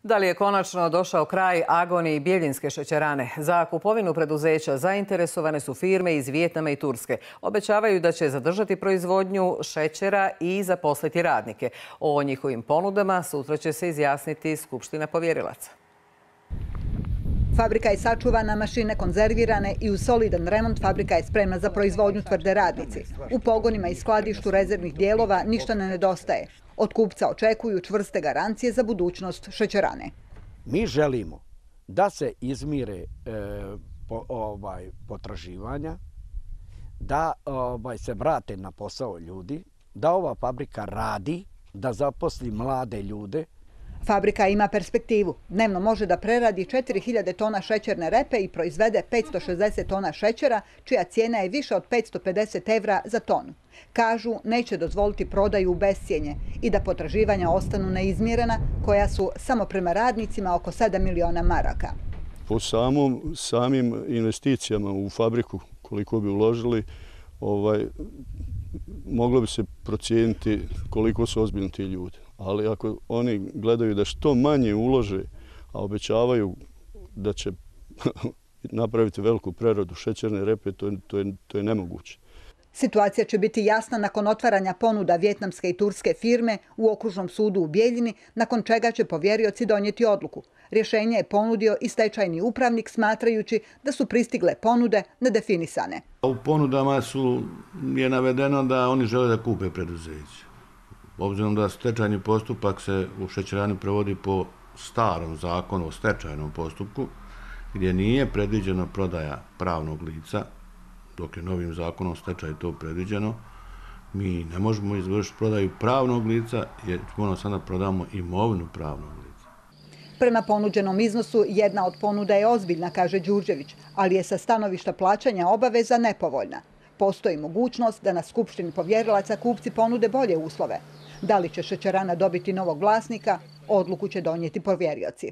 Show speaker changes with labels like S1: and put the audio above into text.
S1: Da li je konačno došao kraj agoniji Bjeljinske šećerane? Za kupovinu preduzeća zainteresovane su firme iz Vijetnama i Turske. Obećavaju da će zadržati proizvodnju šećera i zaposliti radnike. O njihovim ponudama sutra će se izjasniti Skupština povjerilaca.
S2: Fabrika je sačuvana, mašine konzervirane i uz solidan remont fabrika je spremna za proizvodnju, tvrde radnici. U pogonima i skladištu rezervnih dijelova ništa ne nedostaje. Od kupca očekuju čvrste garancije za budućnost šećerane.
S3: Mi želimo da se izmire potraživanja, da se vrate na posao ljudi, da ova fabrika radi, da zaposli mlade ljude.
S2: Fabrika ima perspektivu. Dnevno može da preradi 4000 tona šećerne repe i proizvede 560 tona šećera, čija cijena je više od 550 evra za tonu. Kažu, neće dozvoliti prodaju u bescijenje i da potraživanja ostanu neizmirena, koja su samo prema radnicima oko 7 miliona maraka.
S4: Po samim investicijama u fabriku, koliko bi uložili, moglo bi se procijeniti koliko su ozbiljni ti ljudi. Ali ako oni gledaju da što manje ulože, a obećavaju da će napraviti veliku preradu šećerne repe, to je nemoguće.
S2: Situacija će biti jasna nakon otvaranja ponuda vijetnamske i turske firme u okružnom sudu u Bijeljini, nakon čega će povjerioci donijeti odluku. Rješenje je ponudio i stečajni upravnik, smatrajući da su pristigle ponude nedefinisane.
S5: U ponudama je navedeno da oni žele da kupe preduzeće. Obzirom da stečajni postupak se u šećerani provodi po starom zakonu o stečajnom postupku, gdje nije predviđena prodaja pravnog lica, dok je novim zakonom o stečaju to predviđeno, mi ne možemo izvršiti prodaju pravnog lica jer ćemo sada prodamo imovinu pravnog lica.
S2: Prema ponuđenom iznosu, jedna od ponuda je ozbiljna, kaže Đurđević, ali je sa stanovišta plaćanja obaveza nepovoljna. Postoji mogućnost da na Skupštini povjerilaca kupci ponude bolje uslove. Da li će šećerana dobiti novog vlasnika, odluku će donijeti povjerioci.